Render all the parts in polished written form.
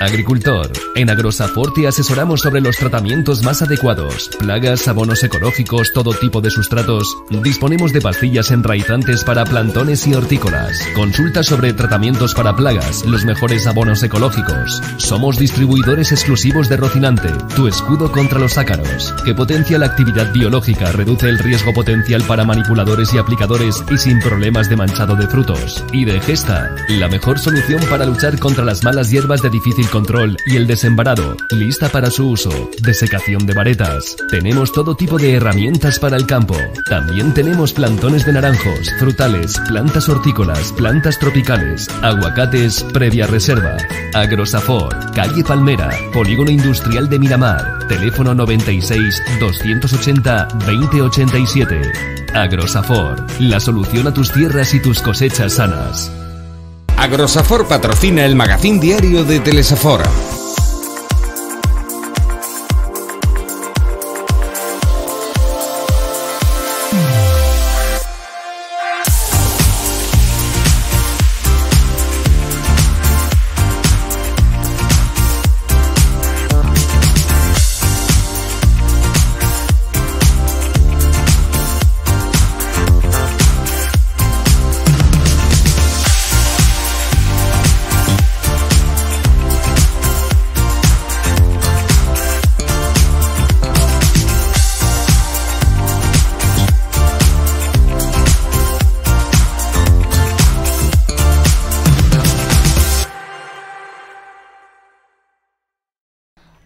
Agricultor. En Agrosafor te asesoramos sobre los tratamientos más adecuados, plagas, abonos ecológicos, todo tipo de sustratos. Disponemos de pastillas enraizantes para plantones y hortícolas. Consulta sobre tratamientos para plagas, los mejores abonos ecológicos. Somos distribuidores exclusivos de Rocinante, tu escudo contra los ácaros, que potencia la actividad biológica, reduce el riesgo potencial para manipuladores y aplicadores y sin problemas de manchado de frutos. Y de Gesta, la mejor solución para luchar contra las malas hierbas de difícil control y el desembarado, lista para su uso. Desecación de varetas. Tenemos todo tipo de herramientas para el campo. También tenemos plantones de naranjos, frutales, plantas hortícolas, plantas tropicales, aguacates previa reserva. Agrosafor, calle Palmera, Polígono Industrial de Miramar. Teléfono 96 280 2087. Agrosafor, la solución a tus tierras y tus cosechas sanas. Agrosafor patrocina el magazín diario de Telesafor.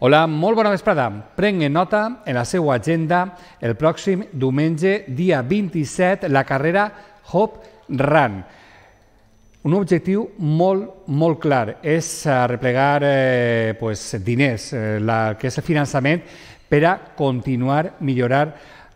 Hola, molt bona vesprada. Prenguin nota en la seva agenda el pròxim diumenge, dia 27, la carrera Hope Run. Un objectiu molt clar, és arreplegar diners, que és el finançament per a continuar millorar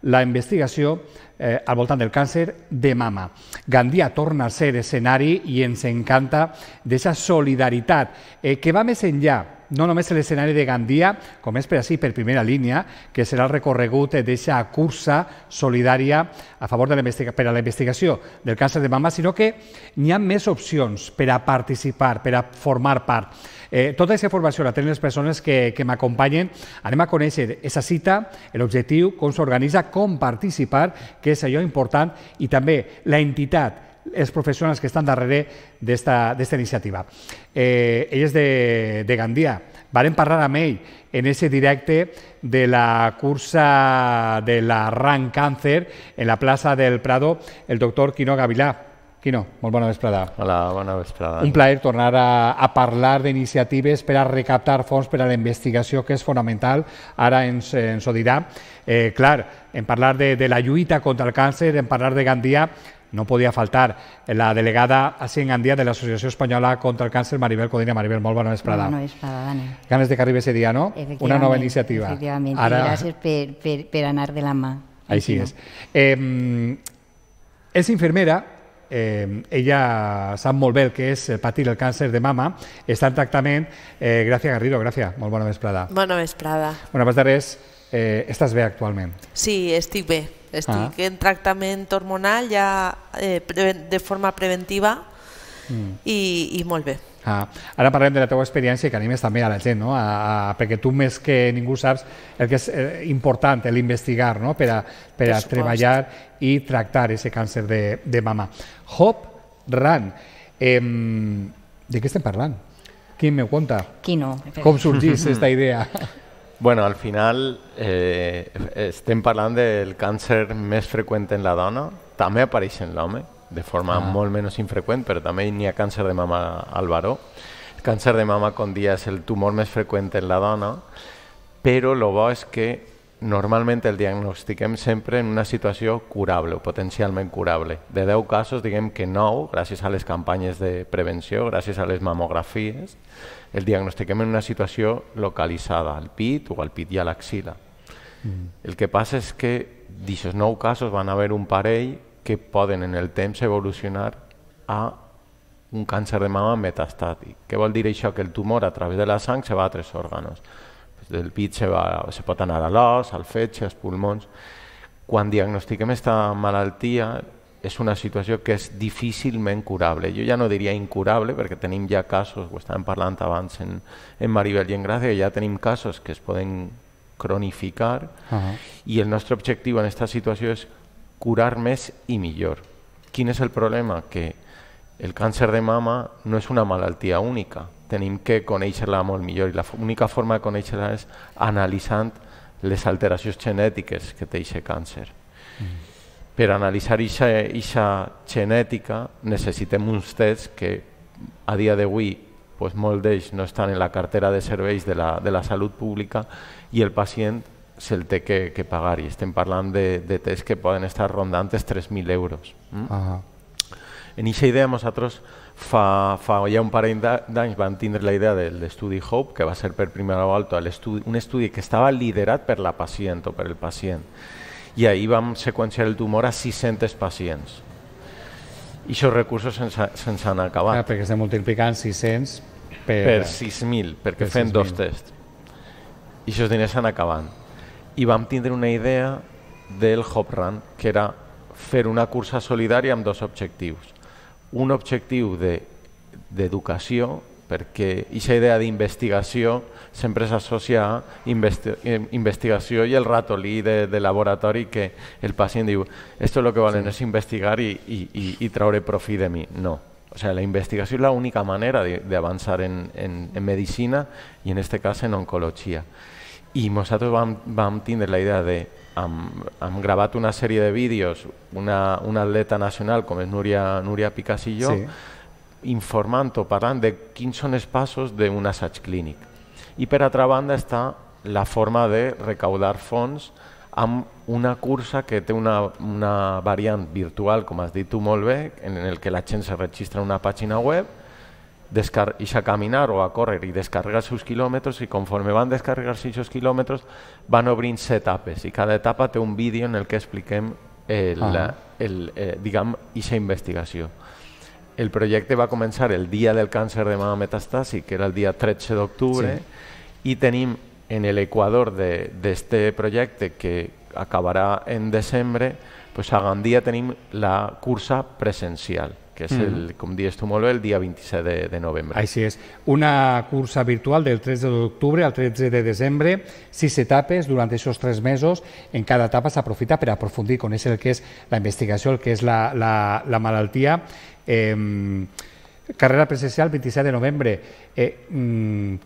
la investigació al voltant del càncer de mama. Gandia torna a ser escenari i ens encanta d'aquesta solidaritat que va més enllà, no només l'escenari de Gandia, com és per primera línia, que serà el recorregut d'aquesta cursa solidària a favor de per a la investigació del càncer de mama, sinó que n'hi ha més opcions per a participar, per a formar part. Tota aquesta informació la tenen les persones que m'acompanyen. Anem a conèixer aquesta cita, l'objectiu, com s'organitza, com participar, que és allò important, i també la entitat, els professionals que estan darrere d'esta iniciativa. Ell és de Gandia. Vàrem parlar amb ell en aquest directe de la cursa de la Run Càncer en la plaça del Prado, el doctor Quino Gavilà. Quino, molt bona vesprada. Hola, bona vesprada. Un plaer tornar a parlar d'iniciatives per a recaptar fons per a la investigació, que és fonamental. Ara ens ho dirà. Clar, en parlar de la lluita contra el càncer, en parlar de Gandia, no podia faltar la delegada a Gandia de l'Associació Espanyola contra el Càncer, Maribel Codina. Maribel, molt bona vesprada. Bona vesprada, Dani. Ganes de que arribi ese dia, no? Una nova iniciativa. Efectivament, i gràcies per anar de la mà. Així és. És infermera, ella sap molt bé el que és patir el càncer de mama, està en tractament. Gràcia Garrido, Gràcia, molt bona vesprada. Bona vesprada. Bueno, abans de res, estàs bé actualment? Sí, estic bé. Estic en tractament hormonal ja de forma preventiva i molt bé. Ara parlem de la teva experiència, que animes també a la gent, perquè tu més que ningú saps el que és important, l'investigar per a treballar i tractar aquest càncer de mama. Hope Run, de què estem parlant? Qui me conta? Quino. Com sorgís aquesta idea? Bueno, al final estem parlant del càncer més freqüent en la dona, també apareix en l'home, de forma molt menys infreqüent, però també n'hi ha càncer de mama al varó. El càncer de mama, com dia, és el tumor més freqüent en la dona, però el bo és que normalment el diagnostiquem sempre en una situació curable o potencialment curable. De 10 casos, diguem que 9, gràcies a les campanyes de prevenció, gràcies a les mamografies, el diagnostiquem en una situació localitzada, al pit o al pit i a l'axila. El que passa és que d'aquests 9 casos van haver un parell que poden en el temps evolucionar a un càncer de mama metastàtic. Què vol dir això? Que el tumor a través de la sang se va a 3 òrgans. Del pit se pot anar a l'os, al fetge, als pulmons. Quan diagnostiquem aquesta malaltia, és una situació que és difícilment curable. Jo ja no diria incurable, perquè tenim ja casos, ho estàvem parlant abans en Maribel i en Gràcia, ja tenim casos que es poden cronificar, i el nostre objectiu en aquesta situació és curar més i millor. Quin és el problema? Que el càncer de mama no és una malaltia única. Tenim que conèixer-la molt millor, i l'única forma de conèixer-la és analitzant les alteracions genètiques que té aquest càncer. Per analitzar aquesta genètica necessitem uns tests que a dia d'avui molts d'ells no estan en la cartera de serveis de la salut pública, i el pacient se'l té que pagar, i estem parlant de tests que poden estar rondant els 3.000 euros. En aquesta idea nosaltres fa ja un parell d'anys vam tindre la idea de l'estudi HOPE, que va ser per primera volta un estudi que estava liderat per la pacient o per el pacient, i ahir vam seqüenciar el tumor a 600 pacients. I aquests recursos se'ns han acabat. Perquè estem multiplicant 600 per 6.000, perquè fem 2 tests. I aquests diners s'han acabat. I vam tindre una idea del Hope Run, que era fer una cursa solidària amb 2 objectius. Un objectiu d'educació, perquè aquesta idea d'investigació sempre s'associa a investigació i el ratolí de laboratori, que el pacient diu esto lo que volen és investigar i traure profit de mi. No. O sea, la investigació és l'única manera d'avançar en medicina, i en aquest cas en oncologia. I nosaltres vam tindre la idea de, hem gravat una sèrie de vídeos, una atleta nacional com és Núria Picàs i jo, informant o parlant de quins són els passos d'un assaig clínic. I per altra banda està la forma de recaudar fons amb una cursa que té una variant virtual, com has dit tu molt bé, en el que la gent se registra en una pàgina web, deixa a caminar o a córrer i descarregar els seus quilòmetres, i conforme van descarregar-se els quilòmetres van obrint-se etapes, i cada etapa té un vídeo en el que expliquem aquesta investigació. El projecte va començar el dia del càncer de mama metastàsic, que era el dia 13 d'octubre, i tenim en l'equador d'aquest projecte, que acabarà en desembre, a Gandia tenim la cursa presencial, que és, com dius tu molt bé, el dia 27 de novembre. Així és. Una cursa virtual del 13 d'octubre al 13 de desembre, 6 etapes durant aquests 3 mesos. En cada etapa s'aprofita per aprofundir, conèixer el que és la investigació, el que és la malaltia. Carrera presencial 27 de novembre.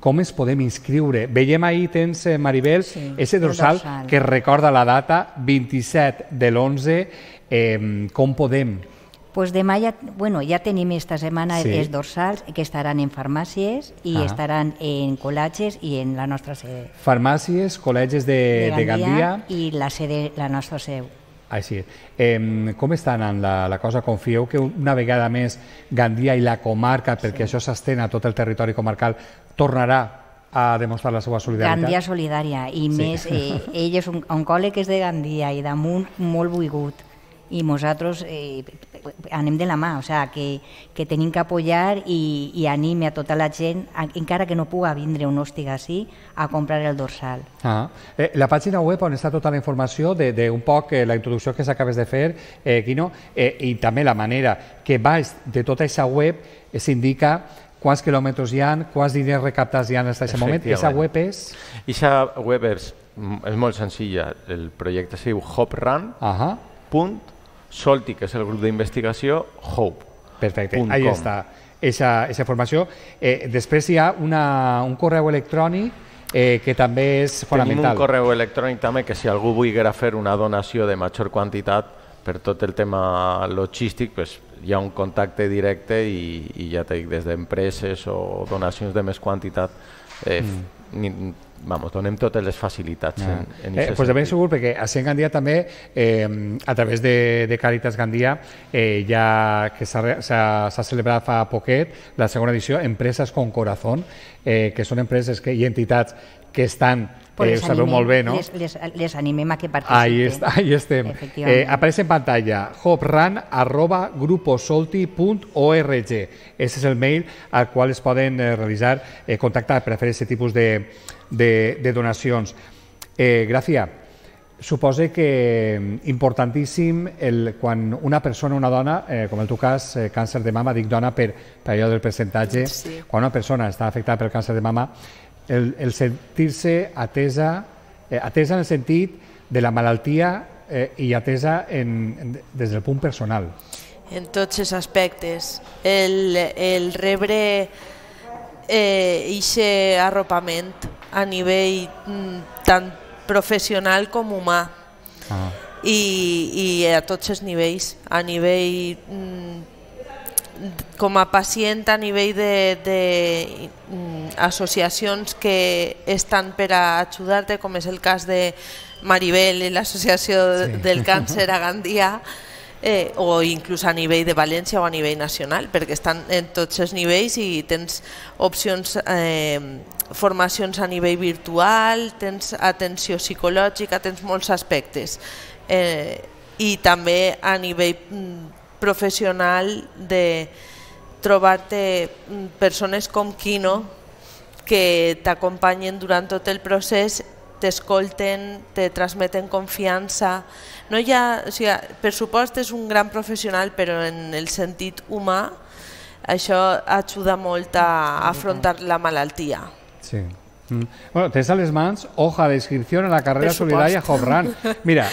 Com ens podem inscriure? Veiem ahir, tens, Maribel, ese dorsal que recorda la data, 27 de l'11. Com podem? Pues demà ja tenim esta setmana els dorsals que estaran en farmàcies i estaran en col·legis i en la nostra sede. Farmàcies, col·legis de Gandia i la nostra seu. Així és. Com està anant la cosa? Confieu que una vegada més Gandia i la comarca, perquè això s'estén a tot el territori comarcal, tornarà a demostrar la seva solidaritat? Gandia solidària, i més, ell és un oncòleg de Gandia i damunt molt volgut, i nosaltres anem de la mà, o sigui, que tenim que apoyar i anime a tota la gent, encara que no puga vindre o no estigui així, a comprar el dorsal. La pàgina web on està tota la informació d'un poc la introducció que s'acabes de fer, Quino, i també la manera que baix de tota aquesta web s'indica quants quilòmetres hi ha, quants diners recaptats hi ha en aquest moment. Aquesta web és? Aquesta web és molt senzilla. El projecte es diu hoperun.solti, que és el grup d'investigació, Hope. Perfecte, ahí està aquesta informació. Després hi ha un correu electrònic que també és fonamental. Tenim un correu electrònic també, que si algú volguera fer una donació de major quantitat per tot el tema logístic, hi ha un contacte directe i ja t'he dit, des d'empreses o donacions de més quantitat, donem totes les facilitats. Doncs de ben segur, perquè a Cent Gandia també, a través de Càritas Gandia, ja que s'ha celebrat fa poquet la segona edició, Empreses con Corazón, que són empreses i entitats que estan, ho sabeu molt bé, no? Les animem a que participin. Ahí estem. Apareix en pantalla hoperan@gruposolti.org. Aquest és el mail al qual es poden realitzar, contactar per a fer aquest tipus de donacions. Gràcia, Suposa que importantíssim quan una persona, una dona, com en el teu cas, càncer de mama, dic dona per allò del percentatge, quan una persona està afectada pel càncer de mama, el sentir-se atesa en el sentit de la malaltia i atesa des del punt personal. En tots els aspectes. El rebre aquest arropament a nivell tant professional com humà i a tots els nivells, a nivell com a pacient, a nivell d'associacions que estan per a ajudar-te, com és el cas de Maribel i l'Associació del Càncer a Gandia, o inclús a nivell de València o a nivell nacional, perquè estan en tots els nivells i tens opcions, formacions a nivell virtual, tens atenció psicològica, tens molts aspectes, i també a nivell professional de trobar-te persones com Quino que t'acompanyen durant tot el procés, t'escolten, te transmeten confiança. No hi ha, o sigui, per supost és un gran professional, però en el sentit humà això ajuda molt a afrontar la malaltia. Sí. Bueno, tens a les mans hoja d'inscripció en la carrera solidària Hope Run. Mira,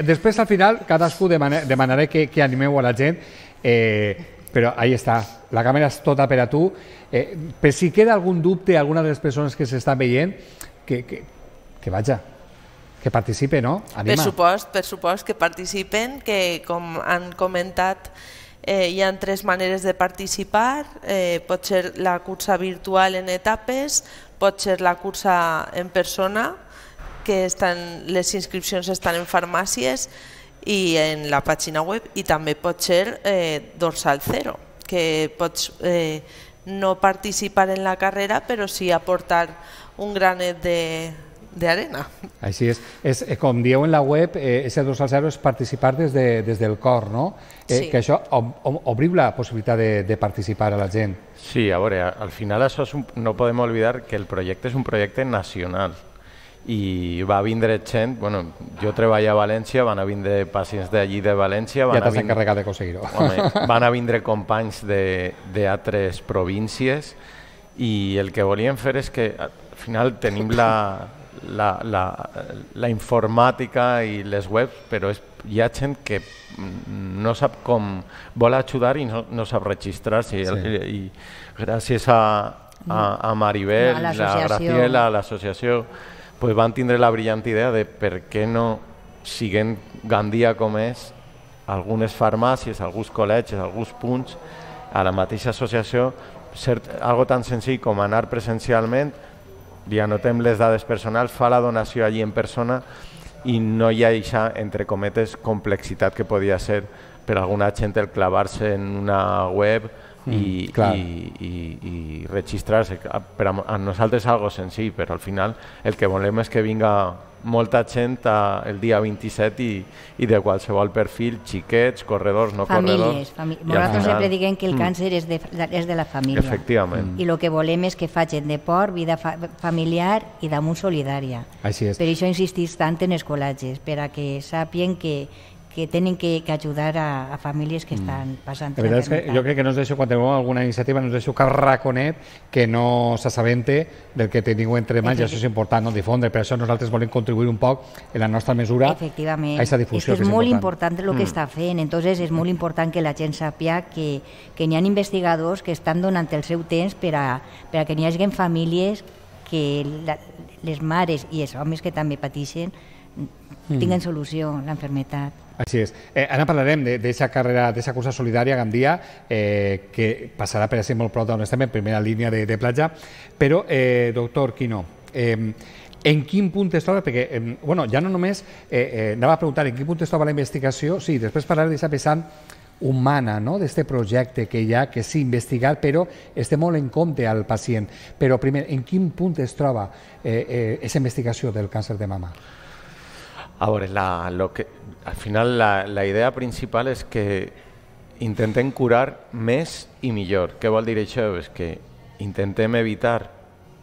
després al final cadascú demanaré que animeu a la gent, però ahí està, la càmera és tota per a tu. Per si queda algun dubte a alguna de les persones que s'estan veient, que vaja, que participe, no? Anima. Per supost que participen, que com han comentat hi ha 3 maneres de participar, pot ser la cursa virtual en etapes, pot ser la cursa en persona, que les inscripcions estan en farmàcies i en la pàgina web, i també pot ser dorsal zero, que pots no participar en la carrera però sí aportar un granet d'arena. Així és. Com dieu en la web, ese dorsal zero és participar des del cor, no? Sí. Que això obriu la possibilitat de participar a la gent. Sí, a veure, al final això no podem oblidar que el projecte és un projecte nacional i va vindre gent, bueno, jo treballo a València, van a vindre pacients d'allí de València, ja t'has encarregat d'aconseguir-ho. Van a vindre companys d'altres províncies i el que volíem fer és que al final tenim la informàtica i les webs, però hi ha gent que no sap com vol ajudar i no sap registrar-se, i gràcies a Maribel, a Graciela, a l'associació, van tindre la brillant idea de per què no, siguent Gandia com és, algunes farmàcies, alguns col·legis, alguns punts, a la mateixa associació, ser algo tan senzill com anar presencialment, li anotem les dades personals, fa la donació allí en persona i no hi ha aquesta, entre cometes, complexitat que podia ser per alguna gent el clavar-se en una web i registrar-se. Per a nosaltres és algo senzill, però al final el que volem és que vinga molta gent el dia 27 i de qualsevol perfil, xiquets, corredors, no corredors. Nosaltres sempre diguem que el càncer és de la família. Efectivament. I el que volem és que facin deport, vida familiar i damunt solidària. Així és. Per això insistís tant en els col·legis, per a que sàpien que tenen que ajudar a famílies que estan passant la veritat és que jo crec que no us deixo, quan teniu alguna iniciativa, no us deixo cap raconet que no s'assabente del que teniu entre mans, i això és important, no difondre. Per això nosaltres volem contribuir un poc en la nostra mesura a aquesta difusió. És molt important el que està fent, entonces és molt important que la gent sàpia que n'hi ha investigadors que estan donant el seu temps per a que n'hi hagi famílies que les mares i els homes que també pateixen tinguen solució a l'enfermetat. Així és. Ara parlarem d'aquesta carrera, d'aquesta cursa solidària a Gandia, que passarà per ser molt prop d'on estem, en primera línia de platja. Però, doctor Quino, en quin punt es troba? Perquè, ja no només anava a preguntar en quin punt es troba la investigació, sí, després parlaré d'aquesta vessant humana, d'aquest projecte que hi ha, que sí, investigar, però es té molt en compte al pacient. Però, primer, en quin punt es troba aquesta investigació del càncer de mama? A veure, al final la idea principal és que intentem curar més i millor. Què vol dir això? És que intentem evitar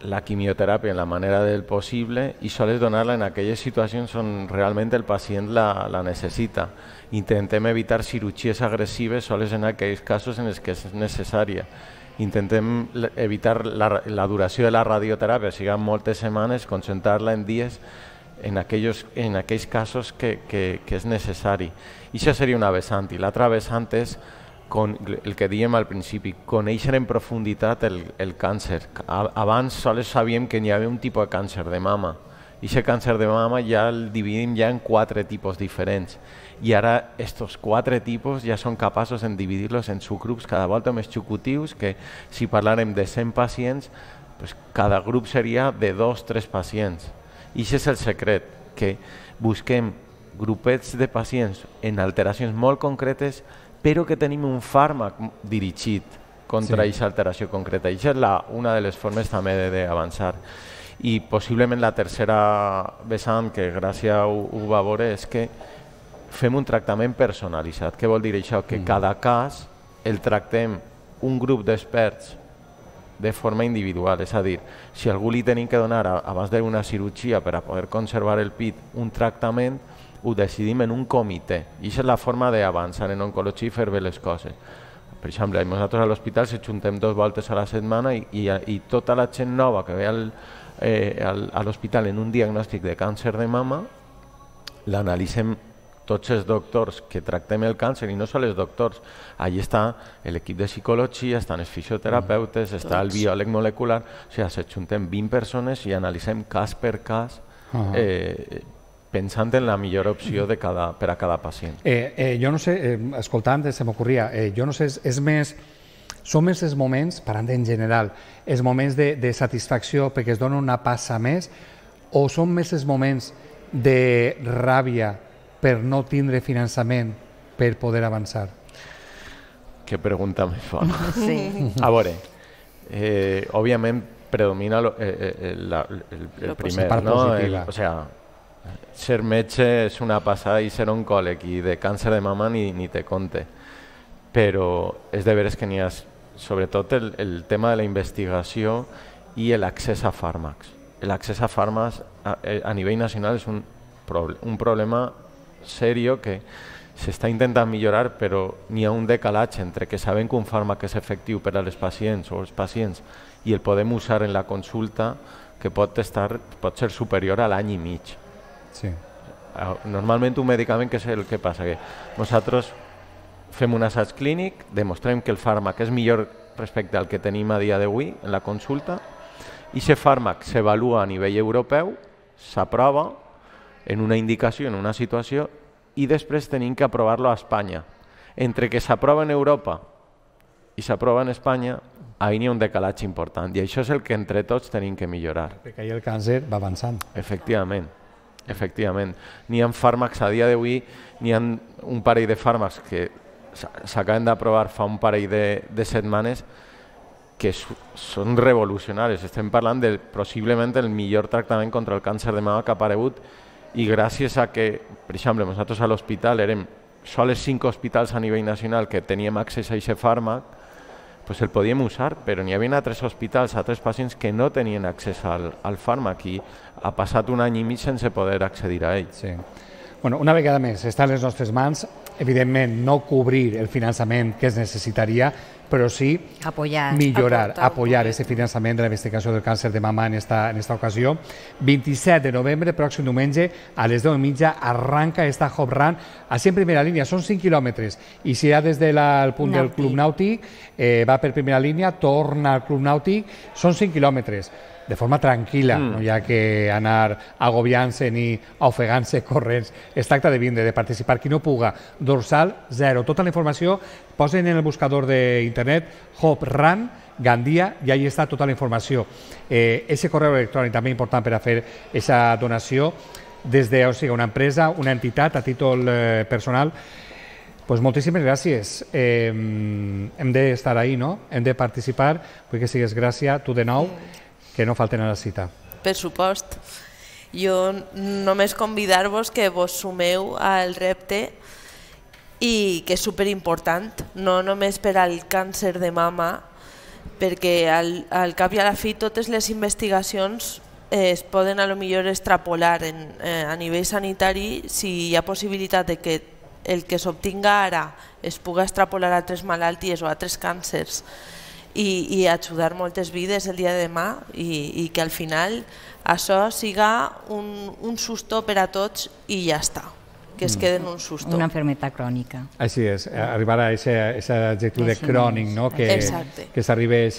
la quimioteràpia en la manera del possible i sols donar-la en aquelles situacions on realment el pacient la necessita. Intentem evitar cirurgies agressives sols en aquells casos en els que és necessària. Intentem evitar la duració de la radioteràpia, siguin moltes setmanes, concentrar-la en dies en aquells casos que és necessari. I això seria una vessant. I l'altra vessant és el que dèiem al principi, conèixer en profunditat el càncer. Abans sols sabíem que hi havia un tipus de càncer de mama. I aquest càncer de mama ja el dividim ja en 4 tipus diferents. I ara estos 4 tipus ja són capaços de dividir-los en subgrups cada volta més xicutius, que si parlàrem de 100 pacients, pues cada grup seria de 2-3 pacients. I aquest és el secret, que busquem grupets de pacients en alteracions molt concretes, però que tenim un fàrmac dirigit contra aquesta alteració concreta. I això és una de les formes també d'avançar. I possiblement la tercera vessant, que Gràcia ho va veure, és que fem un tractament personalitzat. Què vol dir això? Que cada cas el tractem un grup d'experts de forma individual. És a dir, si a algú li tenim que donar abans d'una cirurgia per a poder conservar el pit un tractament, ho decidim en un comitè. I aquesta és la forma d'avançar en oncologia i fer bé les coses. Per exemple, nosaltres a l'hospital se juntem 2 voltes a la setmana i tota la gent nova que ve a l'hospital en un diagnòstic de càncer de mama l'analitzem tots els doctors que tractem el càncer, i no són els doctors. Allí està l'equip de psicologia, estan els fisioterapeutes, està el biòleg molecular, o sigui, se juntem 20 persones i analitzem cas per cas pensant en la millor opció per a cada pacient. Jo no sé, escoltant, se m'ocorria, jo no sé, són més els moments, parlant en general, els moments de satisfacció perquè es dona una passa més, o són més els moments de ràbia per no tindre finançament per poder avançar? Que pregunta més fort. A veure, òbviament predomina el primer, no? O sigui, ser metge és una passada i ser oncòleg i de càncer de mama ni te compte. Però és de veres que n'hi ha, sobretot el tema de la investigació i l'accés a fàrmacs. L'accés a fàrmacs a nivell nacional és un problema serio que s'està intentant millorar, però n'hi ha un decalatge entre que sabem que un fàrmac és efectiu per a les pacients o els pacients i el podem usar en la consulta, que pot ser superior a l'any i mig. Normalment un medicament, què és el que passa? Que nosaltres fem un assaig clínic, demostrem que el fàrmac és millor respecte al que tenim a dia d'avui en la consulta, i aquest fàrmac s'avalua a nivell europeu, s'aprova en una indicació, en una situació, i després tenim que aprovar-lo a Espanya. Entre que s'aprova en Europa i s'aprova en Espanya, ahí n'hi ha un decalatge important, i això és el que entre tots tenim que millorar. Perquè ahir el càncer va avançant. Efectivament. N'hi ha fàrmacs a dia d'avui, n'hi ha un parell de fàrmacs que s'acaben d'aprovar fa un parell de setmanes que són revolucionaris. Estem parlant de possiblement el millor tractament contra el càncer de mama que ha aparegut, i gràcies a que, per exemple, nosaltres a l'hospital érem sols 5 hospitals a nivell nacional que teníem accés a aquest fàrmac, el podíem usar, però n'hi havia altres hospitals, altres pacients que no tenien accés al fàrmac i ha passat un any i mig sense poder accedir a ell. Bueno, una vegada més, està a les nostres mans, evidentment no cobrir el finançament que es necessitaria, però sí millorar, apoyar ese finançament de la investigació del càncer de mama en esta ocasió. 27 de novembre, pròxim diumenge, a les 10:30, arranca esta Hop Run, així en primera línia, són 5 quilòmetres, i si ja des del punt del Club Nàutic va per primera línia, torna al Club Nàutic, són 5 quilòmetres. De forma tranquil·la, no hi ha que anar agobiant-se ni ofegant-se corrents. Es tracta de vindre, de participar. Qui no puga, dorsal 0. Tota la informació posen en el buscador d'internet Hop Run Gandia i allà està tota la informació. Ese correu electrònic també important per a fer aquesta donació des de una empresa, una entitat a títol personal. Pues moltíssimes gràcies. Hem d'estar ahí, no? Hem de participar. Vull que sigues Gràcia, tu de nou, que no falten a la cita. Per supost. Jo només convidar-vos que vos sumeu al repte i que és superimportant, no només per al càncer de mama, perquè al cap i a la fi totes les investigacions es poden a lo millor extrapolar a nivell sanitari si hi ha possibilitat de que el que s'obtinga ara es puga extrapolar a altres malalties o a altres càncers i ajudar moltes vides el dia de demà i que al final això siga un susto per a tots i ja està, que es queden un susto. Una enfermedad crònica. Així és, arribar a aquest adjectiu de crònic, no? Que s'arribi a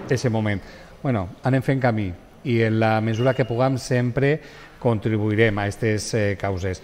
aquest moment. Bueno, anem fent camí i en la mesura que puguem sempre contribuirem a aquestes causes.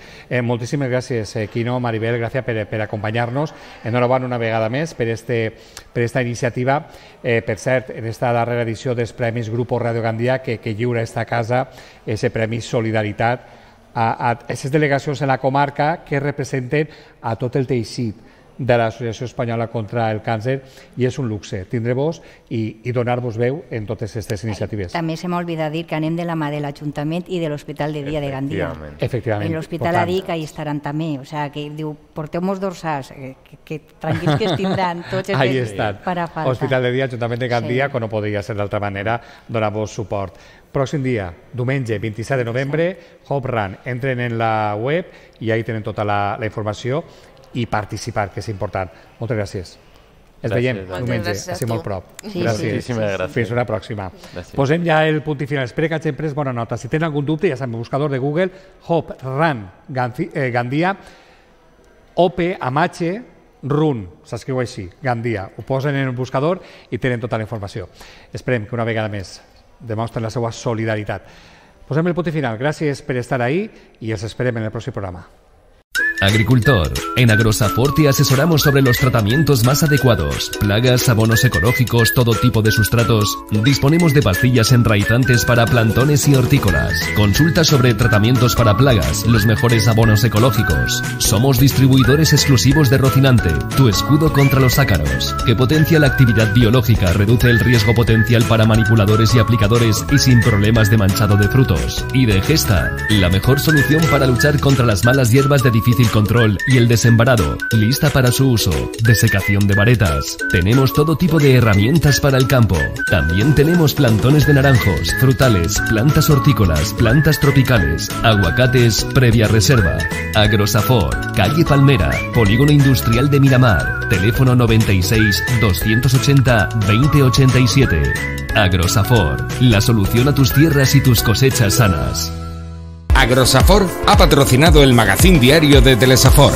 Moltíssimes gràcies, Quino, Maribel, gràcies per acompanyar-nos. Enhorabona una vegada més per esta iniciativa. Per cert, en esta darrera edició dels Premis Grupo Radio Gandia, que lliura esta casa, ese Premi Solidaritat a aquestes delegacions en la comarca que representen a tot el teixit de l'Associació Espanyola contra el Càncer, i és un luxe tindre-vos i donar-vos veu en totes aquestes iniciatives. També se m'ha oblidat dir que anem de la mà de l'Ajuntament i de l'Hospital de Dia de Gandia. Efectivament. En l'Hospital ha dit que hi estaran també, o sigui, que diu, porteu-nos dorsals, que tranquils que es tindran tots els que farà falta. Hospital de Dia, Ajuntament de Gandia, que no podria ser d'altra manera, donar-vos suport. Pròxim dia, diumenge 27 de novembre, Hope Run. Entren en la web i ahí tenen tota la informació i participar, que és important. Moltes gràcies. Ens veiem diumenge, així molt prop. Gràcies. Fins una pròxima. Posem ja el punt i final. Espero que hagin pres bona nota. Si tenen algun dubte, ja sabem, el buscador de Google, Hope Run Gandia, OP Amache Run, s'escriu així, Gandia. Ho posen en el buscador i tenen tota la informació. Esperem que una vegada més demostren la seva solidaritat. Posem el punt final. Gràcies per estar ahí i els esperem en el pròxim programa. Agricultor. En Agrosafor te asesoramos sobre los tratamientos más adecuados, plagas, abonos ecológicos, todo tipo de sustratos. Disponemos de pastillas enraizantes para plantones y hortícolas. Consulta sobre tratamientos para plagas, los mejores abonos ecológicos. Somos distribuidores exclusivos de Rocinante, tu escudo contra los ácaros, que potencia la actividad biológica, reduce el riesgo potencial para manipuladores y aplicadores y sin problemas de manchado de frutos. Y de Gesta, la mejor solución para luchar contra las malas hierbas de difícil control y el desembarado, lista para su uso, desecación de varetas. Tenemos todo tipo de herramientas para el campo. También tenemos plantones de naranjos, frutales, plantas hortícolas, plantas tropicales, aguacates previa reserva. Agrosafor, calle Palmera, Polígono Industrial de Miramar, teléfono 96 280 2087. Agrosafor, la solución a tus tierras y tus cosechas sanas. Agrosafor ha patrocinado el magazín diario de Telesafor.